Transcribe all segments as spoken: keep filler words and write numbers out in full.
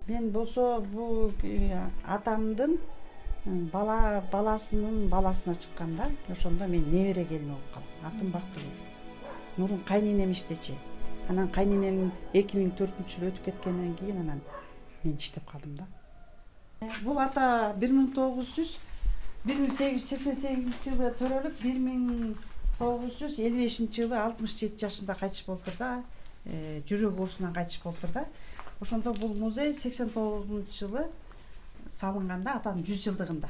Мен болсо бул атамдын бала баласынын баласына чыккам да. Ошондо мен небере келин болуп калдым. Атым Бактыгүл. Мурун кайненем иштечи. Анан кайненем эки миң төртүнчү жылы өтүп кеткенден кийин анан мен иштеп калдым да. Бул ата бир миң тогуз жүз бир миң сегиз жүз сексен сегизинчи жылы төрөлүп, бир миң тогуз жүз элүү бешинчи жылы алтымыш жети жашында кайтыш болуптур да. Жүрөк оорусунан кайтыш болуптур да. Ошондо бул музей сексен тогузунчу жылы салынганда, атанын жүз жылдыгында.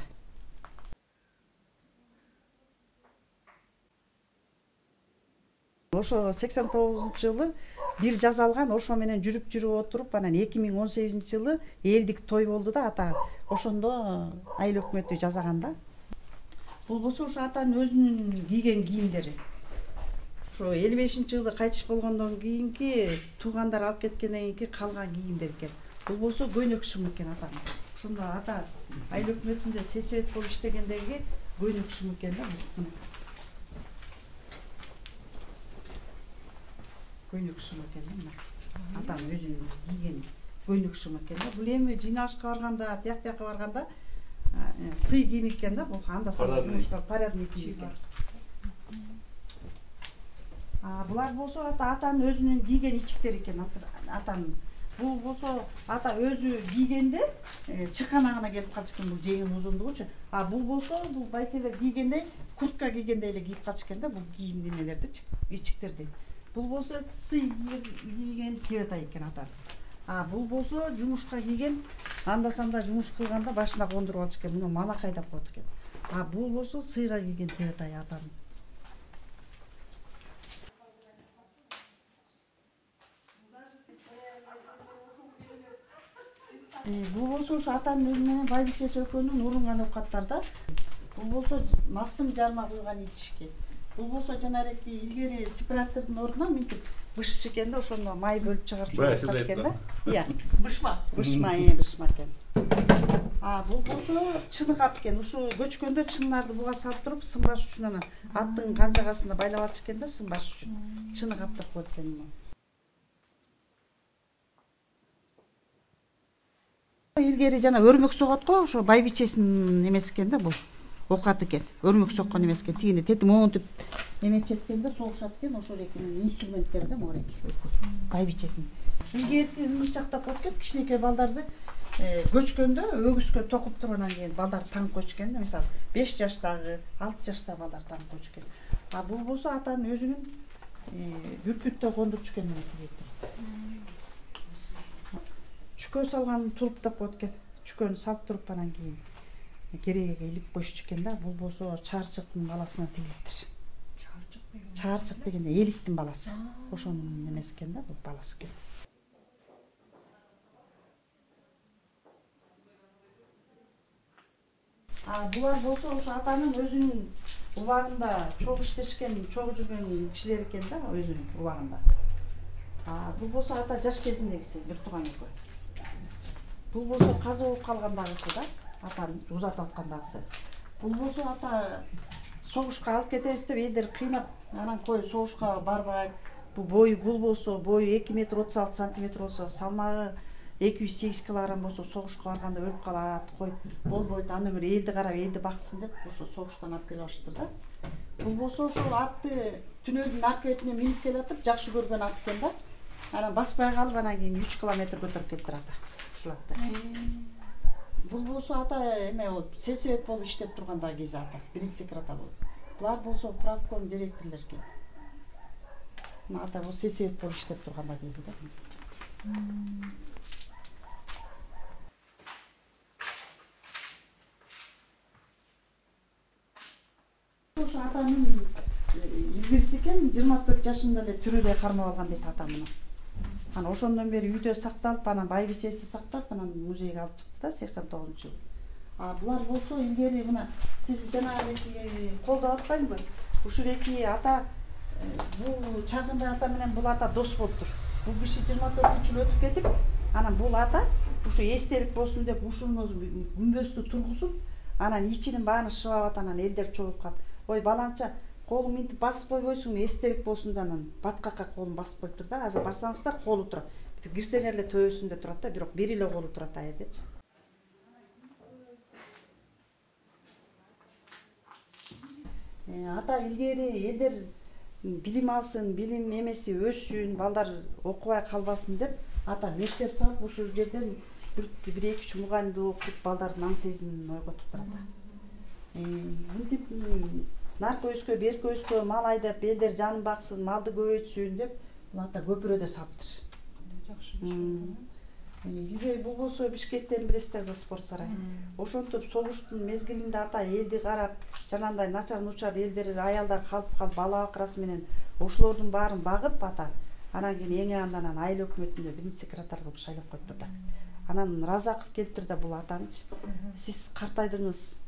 Ошо сексен тогузунчу жылы бир жазалган, ошо менен жүрүп жүрүп отуруп, анан эки миң он сегизинчи жылы элдик той болду да ата. Ошондо айыл өкмөтү жасаган да. Бул болсо ошо атанын өзүнүн кийген кийимдери. Ошо элүү бешинчи жылы кайтыш болгондон кийинки туугандар алып кеткенден кийинки калган кийимдер экен. Бул болсо көйнөк шым экен атанын. Ошондо ата айыл өкмөтүндө сесебет болуп иштегендеги көйнөк шым экен да. Көйнөк шым экен да мына. Атанын өзүнүн кийген көйнөк шым экен да. Бул эми жыйналышка барганда, тияк бияка барганда сый кийим экен да. Бул анда санда жумушка парадный кийим экен. А булар болсо ата атанын өзүнүн кийген ичиктери экен атанын. Бул болсо ата өзү кийгенде чыканагына келип калчу экен, бул жеңин узундугучу. А бул болсо бул байкелер кийгенде куртка кийгендей эле кийип калчу экен да, бул кийим немелерди, ичиктерди. Бул болсо сый кийген тебетай экен ата. А бул болсо жумушка кийген, анда санда жумуш кылганда башына кондуруп алчу экен, муну малакай деп коет экен. А бул болсо сыйга кийген тебетай атанын. Бул болсо ошо атанын өзү менен байбичеси экөөнүн урунган оокаттар да. Бул болсо максым жарма куйган ичишки. Бул болсо жанареки илгери сепаратордун ордуна мынтип бышыш экен да, ошондо май бөлүп чыгарчу экен да. Ыя, бышма. Бышма, э, бышма экен. А бул болсо чыныгап экен. Ушу көчкөндө чыннарды буга салып туруп сынбаш үчүн анан аттын канжагасына байлап алчу экен да, сынбаш үчүн. Чыныгап деп коет экен муну. Илгери жана өрмөк согот го, ошо байбичесинин эмеси экен да бул. Оокат экен. Өрмөк соккон эмес экен. Тигине тети монтип эметчет экен да, согушат экен, ошол экенин инструменттери да могу экен. Байбичесинин. Илгерки ычактап коет экен, кичинекей балдарды көчкөндө өгүзгө токуп туруп анан кийин балдар таң койчу экен да, мисалы беш жаштагы, алты жаштагы балдар таң койчу экен. А бул болсо атанын өзүнүн бүркүттө кондурчу экен мына. Чүкө салган туруп деп коет экен. Чүкөнү салып туруп анан кийин керегеге илип коюшчу экен да. Бул болсо чаарчыктын баласына тигилиптир. Чаарчык деген? Чаарчык дегенде эликтин баласы. Ошонун эмеси экен да, бул баласы экен. А булар болсо ошо атанын өзүнүн убагында чогуу иштешкен, чогуу жүргөн кишилер экен да, өзүнүн убагында. А бул болсо ата жаш кезиндегиси, бир тууган экөө. Бул болсо каза болуп калгандагысы да, атаны узатып аткандагысы. Бул болсо ата согушка алып кетебиз деп элдер кыйнап, анан кой согушка барбайт. Бул бою бул болсо бою эки метр отуз алты сантиметр болсо, салмагы эки жүз сегиз килограмм болсо согушка барганда өлүп калат, кой болбойт, аны бир элди карап элди баксын деп ошо согуштан алып келип алыштыр да. Бул болсо ошол атты түнөлдүн арка бетине минип келатып, жакшы көргөн ат экен да. Анан баспай калып, анан кийин үч километр көтөрүп келиптир ата. Ушул атты. Бул болсо ата эме болуп, сесебет болуп иштеп турганда кези ата, биринчи секретарь болуп. Булар болсо правком директорлор экен. Мына ата бул сесебет болуп иштеп турганда кези да. Ошо атанын илгириси экен, жыйырма төрт жашында эле түрүлөй кармап алган дейт ата муну. Анан ошондон бери үйдө сакталып, анан байбичеси сактап, анан музейге алып чыкты да сексен тогузунчу жылы. А булар болсо илгери мына сиз жанагы колдоп атпаймынбы? Ушул эки ата бул чагында ата менен бул ата дос болуптур. Бул киши жыйырма төртүнчү жылы өтүп кетип, анан бул ата ушу эстелик болсун деп ушуну күмбөздү тургузуп, анан ичинин баарын шыбап атат, анан элдер чогулуп калып, ой баланча колуң мынтип басып койбойсуң, эстелик болсун да анан баткакка колун басып коюп тур да. Азыр барсаңыздар колу турат. Кирсеңер эле төбөсүндө турат да, бирок бир эле колу турат ал жердечи. Ата илгери элдер билим алсын, билим эмеси өссүн, балдар окубай калбасын деп ата мектеп салып ушул жерден бир эки үч мугалимди окутуп балдардын аң сезимин ойготуп турат. Мынтип наркы өскө, берке өскө, мал айдап элдер жанын баксын, малды көбөйтсүн деп бул ата көпүрөдө салыптыр. Жакшы. Илгери бул болсо Бишкектен билесиздер да спорт сарай. Ошентип согуштун мезгилинде ата элди карап, жанагындай начар нучар элдер, аялдар калып калып бала бакырасы менен ошолордун баарын багып ата анан кийин эң анда анан айыл өкмөтүндө биринчи секретарь кылып шайлап коюптур да. Анан Разаков келиптир да бул атанычы. Сиз картайдыңыз.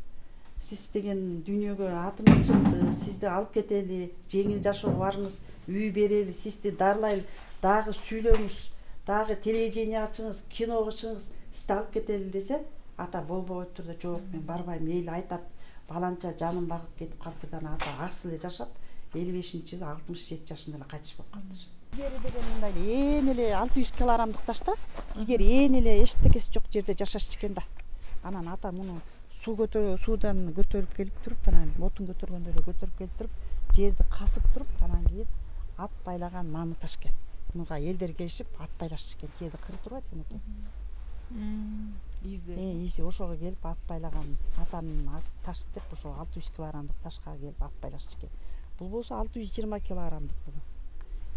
Сиз деген дүйнөгө атыңыз чыкты, сизди алып кетели, жеңил жашоого барыңыз, үй берели, сизди дарылайлы, дагы сүйлөңүз, дагы телевидение ачыңыз, киного чыгыңыз, сизди алып кетели десе, ата болбой коюптур да, жок, мен барбайм, эл айтат, баланча жанын багып кетип калды да, ата аксы эле жашап, элүү бешинчи жылы алтымыш жети жашында эле кайтыш болуп калдыр. Илгери деген мындай ээн эле алты жүз килограммдык ташта, илгери ээн эле эчтекеси жок жерде жашашчу экен да. Анан ата муну суу көтөрүп, суудан көтөрүп келип туруп, анан отун көтөргөндөй эле көтөрүп келип туруп, жерди касып туруп, анан кийин ат байлаган мамы таш экен. Муга элдер келишип ат байлашчу экен, тиеди кыры турбайт экен. Изи. Э, изи ошого келип ат байлаган атанын таш деп ошо алты жүз килограммдык ташка келип ат байлашчу экен. Бул болсо алты жүз жыйырма килограммдык бул.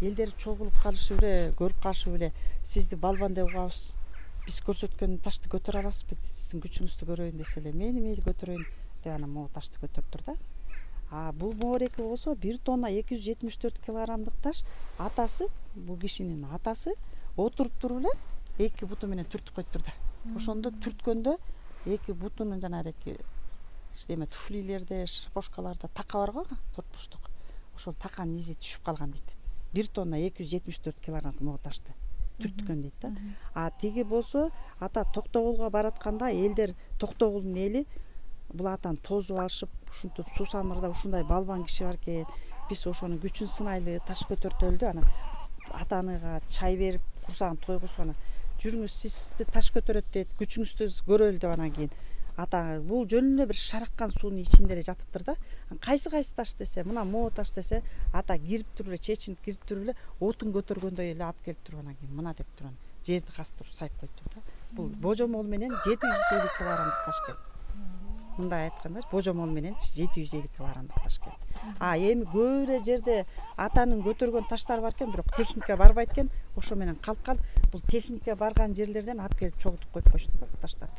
Элдер чогулуп калышып эле, көрүп калышып эле, сизди балбан деп угабыз. Биз көрсөткөн ташты көтөрө аласызбы? Сиздин күчүңүздү көрөйүн десе эле, мени мейли көтөрөйүн деп анан могу ташты көтөрүптүр да. А бул моореки болсо бир тонна эки жүз жетимиш төрт килограммдык таш. Атасы, бул кишинин атасы отуруп туруп эле эки буту менен түртүп коюптур да. Ошондо түрткөндө эки бутунун жанагы эме туфлилерде, шапошкаларда така бар го, төрт бурчтук. Ошол таканын изи түшүп калган дейт. бир тонна эки жүз жетимиш төрт килограммдык могу ташты түрткөн дейт да. А тиги болсо ата Токтогулга баратканда элдер, Токтогулдун эли бул атаны тосуп алышып, ушинтип суу самырда ушундай балбан киши бар экен, биз ошонун күчүн сынайлы, таш көтөртөлү деп анан атаныга чай берип, курсагын тойгузуп анан жүрүңүз, сизди таш көтөрөт дейт, күчүңүздү көрөлү деп анан кийин ата бул жөн эле бир шараккан суунун ичинде эле жатыптыр да. Кайсы кайсы таш десе, мына могу таш десе, ата кирип туруп эле, чечинип кирип туруп эле отун көтөргөндөй эле алып келип туруп анан кийин мына деп туруп жерди касып туруп сайып коюптур да. Бул божомол менен жети жүз элүү килограммдык таш экен. Мындай айтканда, божомол менен жети жүз элүү килограммдык таш экен. А эми көп эле жерде атанын көтөргөн таштары бар экен, бирок техника барбайт экен. Ошо менен калып калып, бул техника барган жерлерден алып келип чогултуп коюп коюшту да бул таштарды.